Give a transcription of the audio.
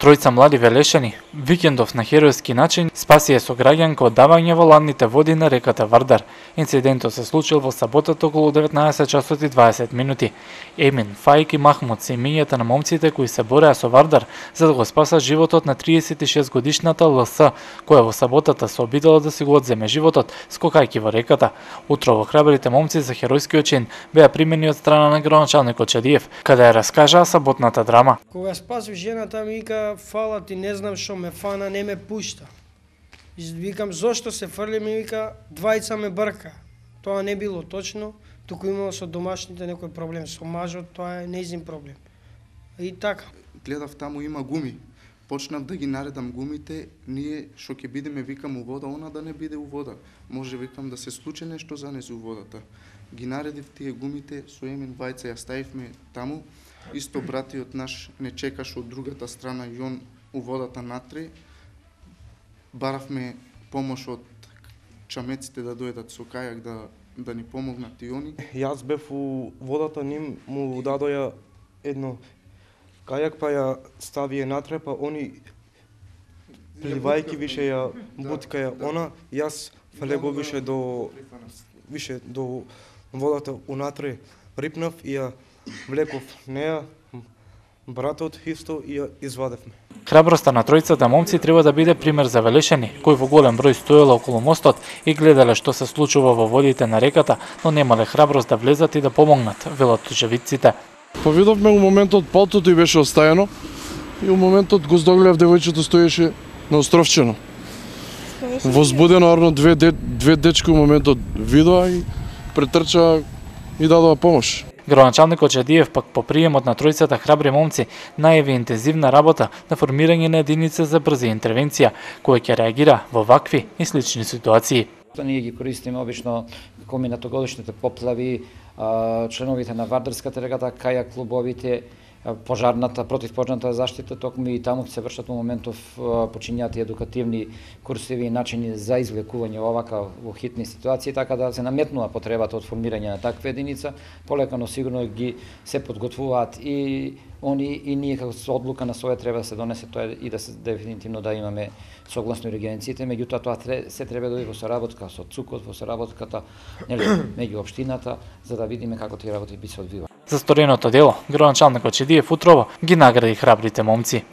Тројца млади велешани, викендов на херојски начин, спасија сограѓанка од давање во ладните води на реката Вардар. Инцидентот се случил во саботата околу 19 часот и 20 минути. Емин, Фаик и Махмуд се имињата на момците кои се бореа со Вардар за да го спасат животот на 36 годишната ЛС, која во саботата се обидела да си го одземе животот скокајќи во реката. Утрово храбрите момци за херојскиот чин беа примени од страна на градоначалникот Чадиев, каде ја раскажаа саботната драма. Кога спасив жената ми вика фала ти, не знам што ме фана, не ме пушта. Викам зошто се фрли, ми вика двајца ме брка. Тоа не било точно, туку имало со домашните некој проблем, со мажот тоа е нејзин проблем. И така. Гледав таму има гуми. Почнав да ги наредам гумите, ние што ќе бидеме викам у вода, она да не биде у вода. Може викам да се случи нешто за нез у водата. Ги наредив тие гумите, со Емин Вајца ја ставивме таму. Исто братиот наш не чекаше од другата страна и он у водата натре. Баравме помош од чамеците да дојдат со кајак да ни помогнат и они. Јас бев у водата, ним му дадоја едно кајак, па ја ставија натре, па они пливајки више ја буткаја она, јас фалего више до водата унатре рипнав и ја влеков неа, братот исто и ја извадевме. Храброста на тројцата момци треба да биде пример за велешани, кои во голем број стоело околу мостот и гледале што се случува во водите на реката, но немале храброст да влезат и да помогнат, велат очевидците. Повидовме у моментот палтото и беше оставено и у моментот го здогледав девојчето стоеше на островчено. Возбудено арно две дечки у моментот видоа и претрчаа и дадоа помош. Градоначалникот Чадиев пак по приемот на тројцата храбри момци најави интензивна работа на формирање на единица за брза интервенција, која ќе реагира во вакви и слични ситуации. Ние ги користиме обично коминатогодишните поплави, членовите на Вардарската регата, кајак клубовите, пожарната, противпожарната заштита, токму и таму се вршат во моментов почињаат едукативни курсеви и начини за извлекување овака во хитни ситуации, така да се наметнува потребата од формирање на таква единица, полека но сигурно ги се подготвуваат и они и ние како со одлука на своја треба да се донесе тоа и да се дефинитивно да имаме согласно регионциите, меѓутоа тоа се треба да биде во соработка со ЦУКот, во соработката меѓу општината, за да видиме како тие работи би се одвиваа. За стореното дело, градоначалникот Чадиев утрово ги награди храбрите момци.